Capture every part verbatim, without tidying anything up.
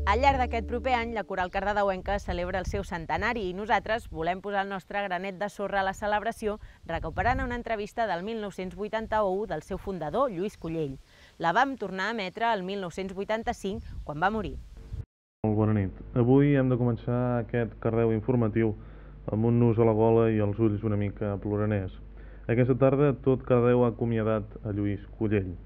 Al llarg d'aquest proper any, la Coral Cardedeuenca celebra el seu centenari i nosaltres volem posar el nostre granet de sorra a la celebració recuperant una entrevista del mil nou-cents vuitanta-u del seu fundador, Lluís Cullell. La vam tornar a emetre el mil nou-cents vuitanta-cinc, quan va morir. Molt bona nit. Avui hem de començar aquest Cardeu informatiu amb un nus a la gola i els ulls una mica ploraners. Aquesta tarda tot Cardeu ha acomiadat a Lluís Cullell.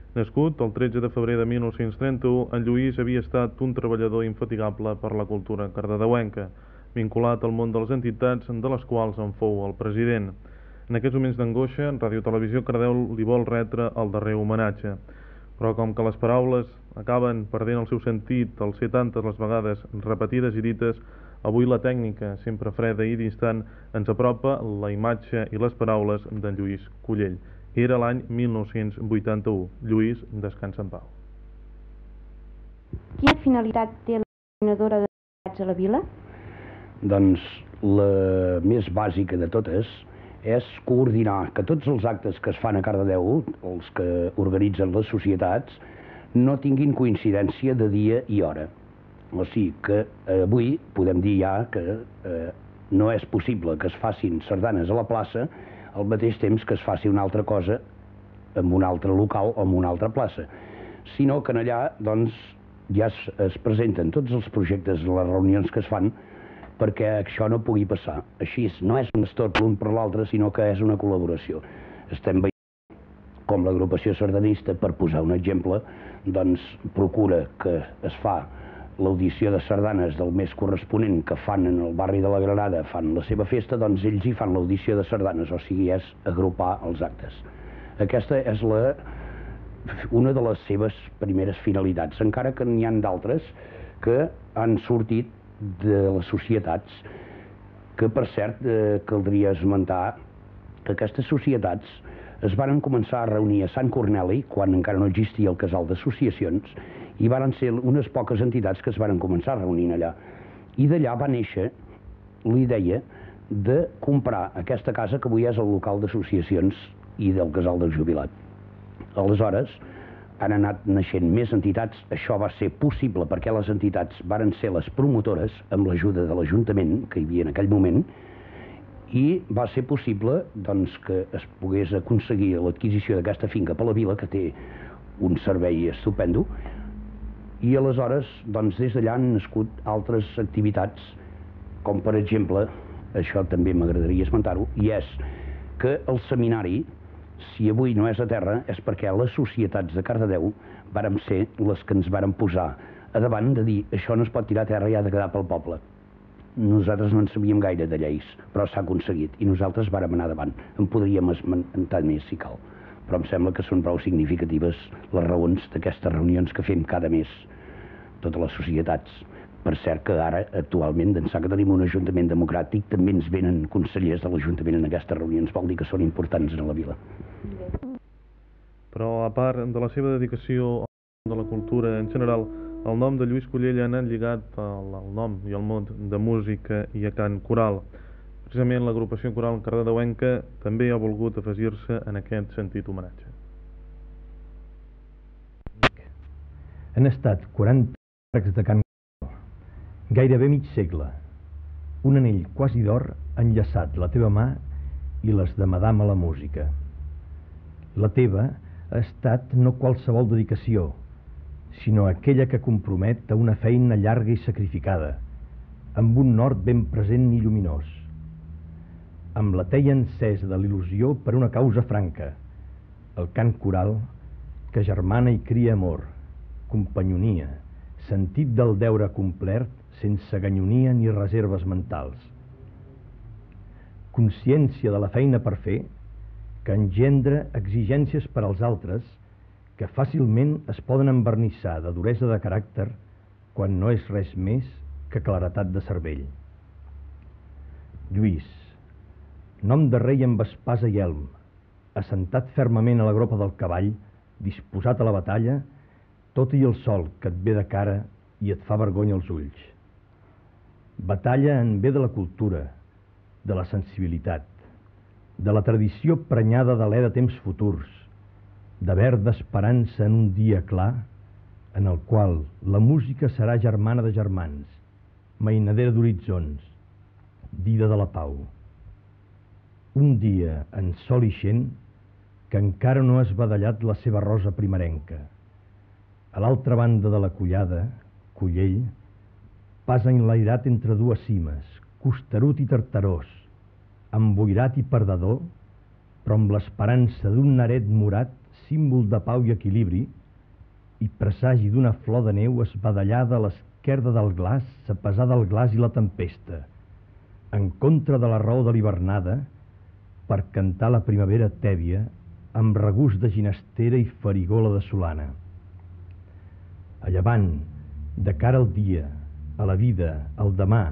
Nascut el tretze de febrer de mil nou-cents trenta-u, en Lluís havia estat un treballador infatigable per la cultura cardedeuenca, vinculat al món de les entitats de les quals en fou el president. En aquests moments d'angoixa, Ràdio Televisió Cardeu li vol retre el darrer homenatge. Però com que les paraules acaben perdent el seu sentit al ser tantes les vegades repetides i dites, avui la tècnica, sempre freda i distant, ens apropa la imatge i les paraules d'en Lluís Cullell. Era l'any mil nou-cents vuitanta-u. Lluís, descansa en pau. Quina finalitat té la coordinadora d'entitats a la vila? Doncs la més bàsica de totes és coordinar que tots els actes que es fan a Cardedeu, els que organitzen les societats, no tinguin coincidència de dia i hora. O sigui que avui podem dir ja que eh, no és possible que es facin sardanes a la plaça al mateix temps que es faci una altra cosa en un altre local o en una altra plaça, sinó que allà doncs, ja es, es presenten tots els projectes, les reunions que es fan, perquè això no pugui passar. Així no és un estorb l'un per l'altre, sinó que és una col·laboració. Estem veient com l'agrupació sardanista, per posar un exemple, doncs procura que es fa l'audició de sardanes del mes corresponent que fan en el barri de la Granada, fan la seva festa, doncs ells hi fan l'audició de sardanes, o sigui, és agrupar els actes. Aquesta és la, una de les seves primeres finalitats, encara que n'hi ha d'altres que han sortit de les societats, que per cert eh, caldria esmentar que aquestes societats es varen començar a reunir a Sant Corneli, quan encara no existia el casal d'associacions, i varen ser unes poques entitats que es varen començar a reunir allà. I d'allà va néixer la idea de comprar aquesta casa que avui és el local d'associacions i del casal del jubilat. Aleshores, han anat naixent més entitats. Això va ser possible perquè les entitats varen ser les promotores amb l'ajuda de l'Ajuntament que hi havia en aquell moment, i va ser possible doncs, que es pogués aconseguir l'adquisició d'aquesta finca per la vila, que té un servei estupendo, i aleshores doncs, des d'allà han nascut altres activitats, com per exemple, això també m'agradaria esmentar-ho, i és que el seminari, si avui no és a terra, és perquè les societats de Cardedeu vàrem ser les que ens vàrem posar a davant de dir això no es pot tirar a terra i ha de quedar pel poble. Nosaltres no en sabíem gaire de lleis, però s'ha aconseguit, i nosaltres vàrem anar davant. En podríem esmentar més si cal, però em sembla que són prou significatives les raons d'aquestes reunions que fem cada mes, totes les societats. Per cert que ara, actualment, d'ençà que tenim un ajuntament democràtic, també ens venen consellers de l'Ajuntament en aquestes reunions, vol dir que són importants a la vila. Però a part de la seva dedicació a la cultura en general, el nom de Lluís Cullell ha anat lligat al, al nom i al món de música i a cant coral. Precisament l'agrupació coral cardedeuenca també ha volgut afegir-se en aquest sentit homenatge. Han estat quaranta arcs de cant coral, gairebé mig segle, un anell quasi d'or ha enllaçat la teva mà i les de Madame a la música. La teva ha estat no qualsevol dedicació, sinó aquella que compromet a una feina llarga i sacrificada, amb un nord ben present i lluminós, amb la teia encesa de l'il·lusió per una causa franca, el cant coral que germana i cria amor, companyonia, sentit del deure complert sense ganyonia ni reserves mentals, consciència de la feina per fer que engendra exigències per als altres que fàcilment es poden envernissar de duresa de caràcter quan no és res més que claretat de cervell. Lluís, nom de rei amb espasa i elm, assentat fermament a la gropa del cavall, disposat a la batalla, tot i el sol que et ve de cara i et fa vergonya als ulls. Batalla en bé de la cultura, de la sensibilitat, de la tradició prenyada d'alè de temps futurs, de verda esperança en un dia clar, en el qual la música serà germana de germans, mainadera d'horitzons, dida de la pau. Un dia en sol ixent que encara no ha esbadallat la seva rosa primerenca. A l'altra banda de la collada, Collell, pas enlairat entre dues cimes, costerut i tartarós, emboirat i perdedor, però amb l'esperança d'un naret morat, símbol de pau i equilibri, i presagi d'una flor de neu esbadallada a l'esquerda del glaç, a pesar del glaç i la tempesta, en contra de la raó de l'hivernada, per cantar la primavera tèbia, amb regust de ginestera i farigola de solana. A llevant, de cara al dia, a la vida, al demà,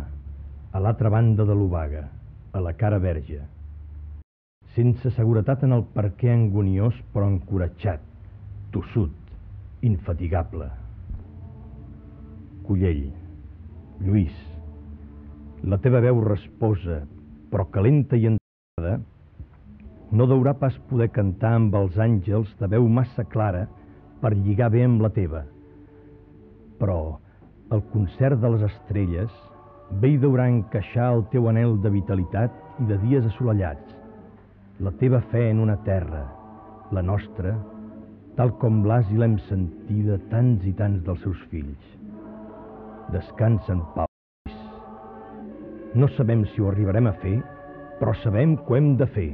a l'altra banda de l'obaga, a la cara verge. Sense seguretat en el perquè angoniós, però encoratjat, tossut, infatigable. Collell, Lluís, la teva veu resposa, però calenta i entrada, no deurà pas poder cantar amb els àngels de veu massa clara per lligar bé amb la teva. Però el concert de les estrelles bé hi deurà encaixar el teu anhel de vitalitat i de dies assolellats, la teva fe en una terra, la nostra, tal com l'has i l'hem sentida tants i tants dels seus fills. Descansa en pau. No sabem si ho arribarem a fer, però sabem que ho hem de fer.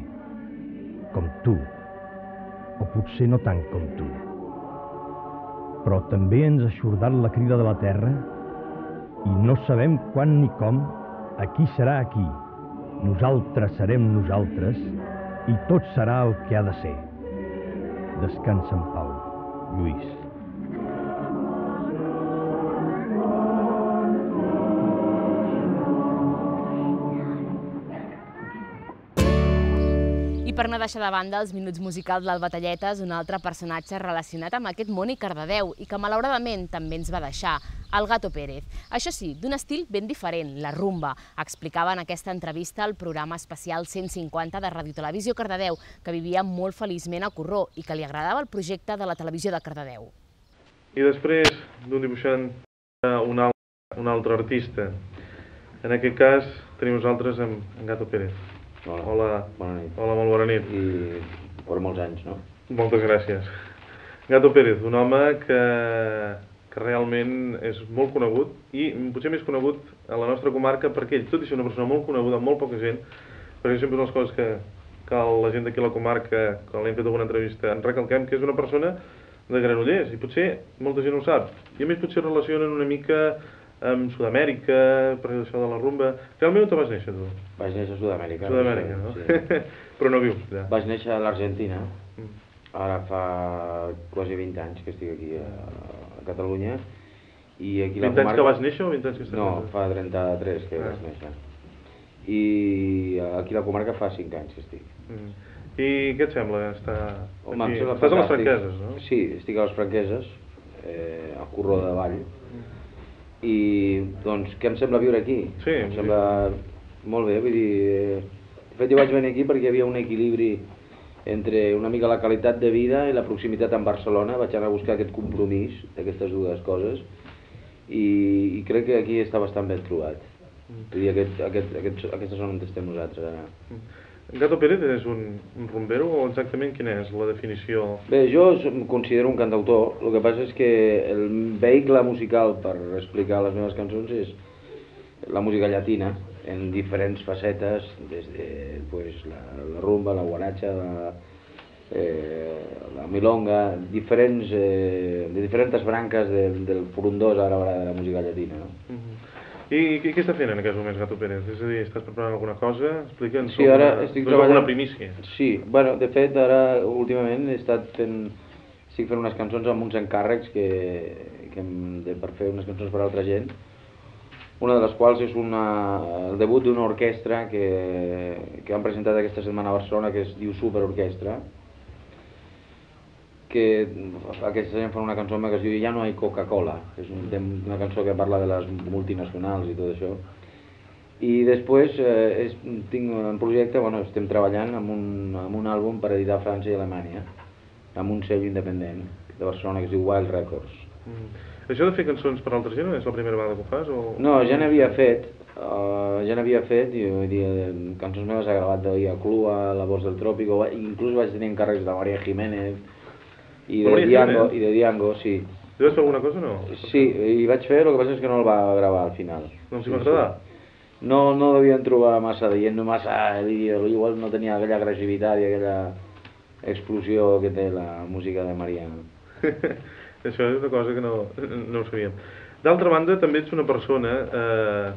Com tu, o potser no tant com tu. Però també ens ha eixordat la crida de la terra i no sabem quan ni com, aquí serà aquí, nosaltres serem nosaltres i tot serà el que ha de ser. Descansa en pau, Lluís. I per no deixar de banda els minuts musicals del Batalletes, un altre personatge relacionat amb aquest món i Cardedeu i que malauradament també ens va deixar, el Gato Pérez. Això sí, d'un estil ben diferent, la rumba. Explicava en aquesta entrevista al programa especial cent cinquanta de Ràdio Televisió Cardedeu que vivia molt feliçment a Corró i que li agradava el projecte de la televisió de Cardedeu. I després d'un dibuixant, un altre, un altre artista. En aquest cas tenim nosaltres amb en Gato Pérez. Hola, Hola, bona nit. Hola, molt bona nit. I per molts anys, no? Moltes gràcies. Gato Pérez, un home que, que realment és molt conegut i potser més conegut a la nostra comarca perquè ell, tot i ser una persona molt coneguda amb molt poca gent, perquè sempre són les coses que, que la gent d'aquí a la comarca, quan l'hem fet alguna entrevista, en recalquem que és una persona de Granollers i potser molta gent ho sap. I a més potser relacionen una mica amb Sud-amèrica, per això de la rumba. Realment on te vas néixer, tu? Vaig néixer a Sud-amèrica. Sud-amèrica, no? Sí. Però no vius allà. Vaig néixer a l'Argentina. Mm. Ara fa quasi vint anys que estic aquí a, a Catalunya. I aquí la vint anys comarca... que vas néixer o vint anys que estàs No, néixer? fa trenta-tres que ah. vaig néixer. I aquí la comarca fa cinc anys que estic. Mm. I què et sembla estar Home, aquí? em sembla Estàs a les fantàstic. Franqueses, no? Sí, estic a les Franqueses, eh, al Corró de Vall. Mm. I doncs què em sembla viure aquí? Sí, em sembla molt bé, vull dir, eh, de fet jo vaig venir aquí perquè hi havia un equilibri entre una mica la qualitat de vida i la proximitat amb Barcelona, vaig anar a buscar aquest compromís d'aquestes dues coses i, i crec que aquí està bastant ben trobat. Mm. Vull dir, aquest, aquest, aquest, aquesta zona on estem nosaltres ara. Mm. Gato Pérez és un, un rumbero o exactament quina és la definició? Bé, jo em considero un cantautor, el que passa és que el vehicle musical per explicar les meves cançons és la música llatina, en diferents facetes, des de pues, la, la rumba, la guaracha, la, eh, la milonga, diferents, eh, de diferents branques del, del frondós ara de la música llatina. No? Uh-huh. I, i què està fent en aquests moments, Gato Pérez? És a dir, estàs preparant alguna cosa? Explica'ns sí, ara alguna, estic treballant... alguna primícia. Sí, bueno, de fet, ara últimament he estat fent... estic fent unes cançons amb uns encàrrecs que, que hem de, per fer unes cançons per a altra gent. Una de les quals és una, el debut d'una orquestra que, que han presentat aquesta setmana a Barcelona, que es diu Super Orquestra, que aquesta gent fan una cançó que es diu Ja no hay Coca-Cola, és un, una cançó que parla de les multinacionals i tot això. I després eh, és, tinc un projecte, bueno, estem treballant amb un, amb un àlbum per editar a França i Alemanya, amb un sello independent de Barcelona que es diu Wild Records. Mm. Això de fer cançons per altra gent és la primera vegada que ho fas? O... No, ja n'havia fet, uh, ja n'havia fet, i vull dir, cançons meves he gravat de Ia Clua, La voz del Trópico, inclús vaig tenir encàrrecs de María Jiménez i de María Diango, Jiménez? i de Diango, sí. Tu vas fer alguna cosa o no? Sí, i vaig fer, el que passa és que no el va gravar al final. No els hi va agradar? No, no devien trobar massa dient, massa, igual no tenia aquella agressivitat i aquella explosió que té la música de Mariano. Això és una cosa que no, no ho sabíem. D'altra banda, també ets una persona, eh,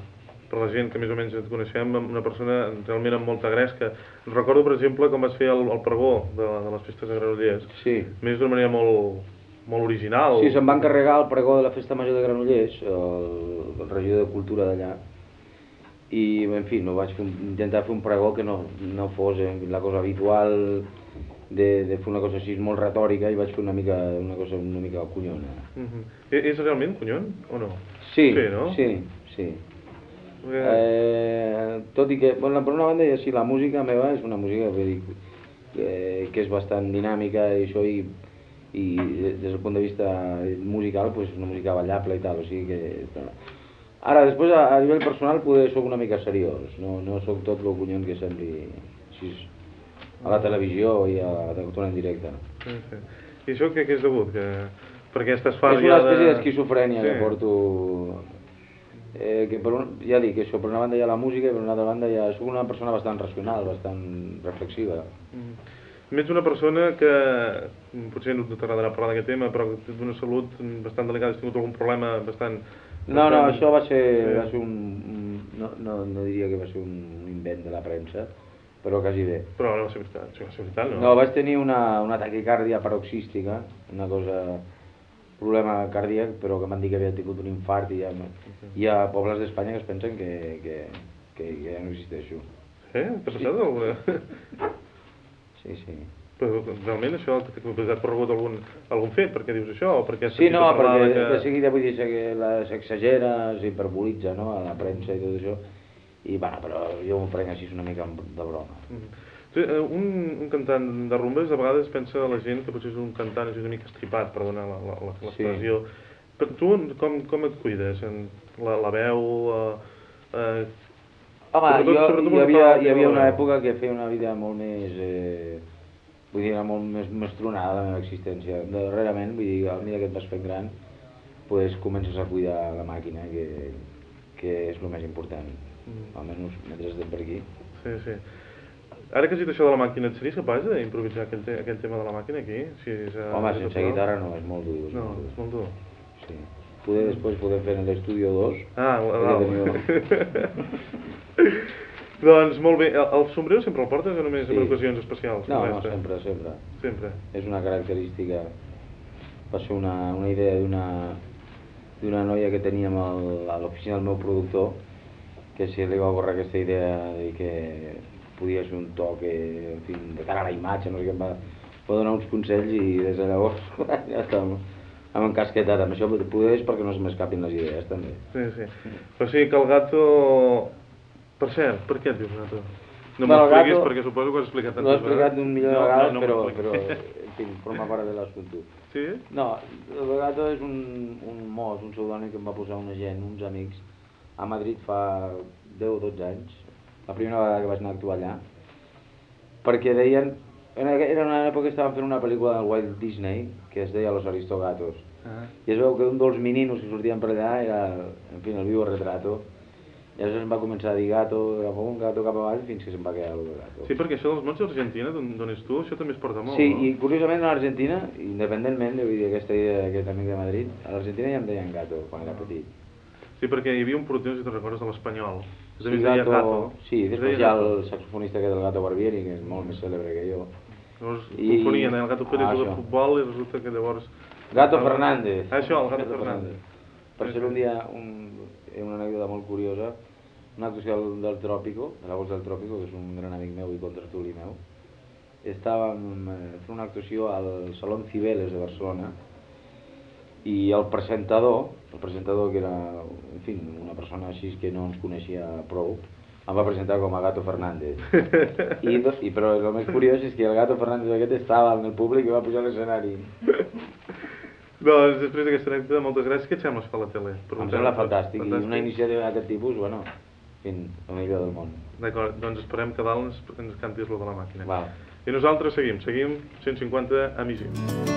per la gent que més o menys et coneixem, una persona realment amb molta gresca. Recordo, per exemple, com vas fer el, el pregó de, de les festes de Granollers. Sí. Més d'una manera molt, molt original. Sí, se'm va encarregar el pregó de la Festa Major de Granollers, el, el regidor de Cultura d'allà, i, en fi, no vaig fer un, intentar fer un pregó que no, no fos eh, la cosa habitual de, de fer una cosa així molt retòrica, i vaig fer una mica una cosa una mica collona. Uh-huh. És realment conyon o no? Sí, sí, no? sí, sí. Perquè... Eh, tot i que, bueno, per una banda, ja sí, la música meva és una música que, dic, que, que és bastant dinàmica i això, i, i des del punt de vista musical, pues, una música ballable i tal, o sigui que... Ara, després, a, a nivell personal, poder soc una mica seriós, no, no soc tot el conyon que sembli així, a la televisió i a la cultura en directe. Sí, sí. I això què, què és degut? Que... Perquè estàs fart és una ja de... espècie d'esquizofrènia sí. que porto... Eh, que per un, ja dic això, per una banda hi ha la música i per una altra banda ja soc una persona bastant racional, bastant reflexiva. Mm. Ets una persona que, potser no t'agradarà parlar d'aquest tema, però d'una salut bastant delicada, has tingut algun problema bastant... No, no, bastant... això va ser, sí. va ser un... No, no, no diria que va ser un invent de la premsa, però quasi bé. Però no va ser veritat, sí, va ser veritat, no? No, vaig tenir una, una taquicàrdia paroxística, una cosa... problema cardíac, però que m'han dit que havia tingut un infart i hi ha, hi ha pobles d'Espanya que es pensen que, que, que ja no existeixo. Sí? T'ha passat sí. alguna? Sí, sí. Però realment això t'ha corregut algun, algun fet? Per què dius això? O perquè sí, no, perquè que... de seguida vull dir que s'exagera, s'hiperbolitza, no?, a la premsa i tot això, i bueno, però jo m'ho prenc així una mica de broma. Mm. Un, un cantant de rumbes a vegades pensa la gent que potser és un cantant és una mica estripat, perdona l'expressió. Sí. Però tu com, com et cuides? La, la veu... Eh, eh, Home, sobretot, jo sobretot hi havia, hi havia una època que feia una vida molt més... Eh, vull dir, molt més, més tronada la meva existència. Darrerament, vull dir, a mesura que et vas fent gran, pues, comences a cuidar la màquina, que, que és el més important. Mm. Almenys mentre estem per aquí. Sí, sí. Ara que has dit això de la màquina, et series capaç d'improvisar aquell, te aquell tema de la màquina aquí? Si és, uh, Home, sense natural? Guitarra no, és molt dur. És no, molt dur. és molt dur. Sí. Poder després poder fer en l'Estudio dos. Ah, dalt. Doncs molt bé, el, el sombrero sempre el portes o només sí. en ocasions especials? No, no, sempre, sempre. Sempre. És una característica, va ser una, una idea d'una d'una noia que teníem al, a l'oficina del meu productor, que si li va ocórrer aquesta idea de que podia ser un toc, en fi, de cara a la imatge, no sé què, em va, va donar uns consells i des de llavors ja estàvem amb encasquetat amb això, poder és perquè no se m'escapin les idees també. Sí, sí. O sigui que el gato... Per cert, per què et dius gato? No m'ho expliquis perquè suposo que ho has explicat tantes vegades. No he explicat un milió de vegades, no, no, no però, però, en fi, forma part de l'assumpte. Sí? No, el gato és un, un mos, un pseudònim que em va posar una gent, uns amics, a Madrid fa deu o dotze anys, la primera vegada que vaig anar a actuar allà, perquè deien, era una època que estaven fent una pel·lícula del Walt Disney que es deia Los Aristogatos, uh-huh. i es veu que un dels meninos que sortien per allà era, en fi, el vivo retrato, i llavors em va començar a dir gato, cap amunt, gato cap avall, fins que se'm va quedar el gato. Sí, perquè això dels mots d'Argentina, d'on ets tu, això també es porta molt, sí, no? Sí, i curiosament a l'Argentina, independentment, vull dir, aquesta idea d'aquest amic de Madrid, a l'Argentina ja em deien gato quan era petit. Sí, perquè hi havia un porteu, si te'n recordes, de l'espanyol. Sí, gato, gato. Sí, després hi ha el saxofonista aquest del Gato Barbieri, que és molt més cèlebre que jo. Llavors I... confonien el Gato Pérez ah, de futbol i resulta que llavors... Gato Fernández. Ah, això, el Gato, Gato Fernández. Fernández. Per ser un dia, un, una anècdota molt curiosa, una actuació del, del Tròpico, de la Voz del Tròpico, que és un gran amic meu i contratuli meu, estàvem fent una actuació al Salón Cibeles de Barcelona, i el presentador, el presentador que era, en fi, una persona així que no ens coneixia prou, em va presentar com a Gato Fernández. I, i, però el més curiós és que el Gato Fernández aquest estava en el públic i va pujar a l'escenari. Doncs després d'aquesta anècdota, moltes gràcies. Què et sembla fer la tele? Em sembla fantàstic. I una iniciativa d'aquest tipus, bueno, fins a millor del món. D'acord, doncs esperem que dalt ens, ens cantis lo de la màquina. Val. I nosaltres seguim, seguim cent cinquanta emissions.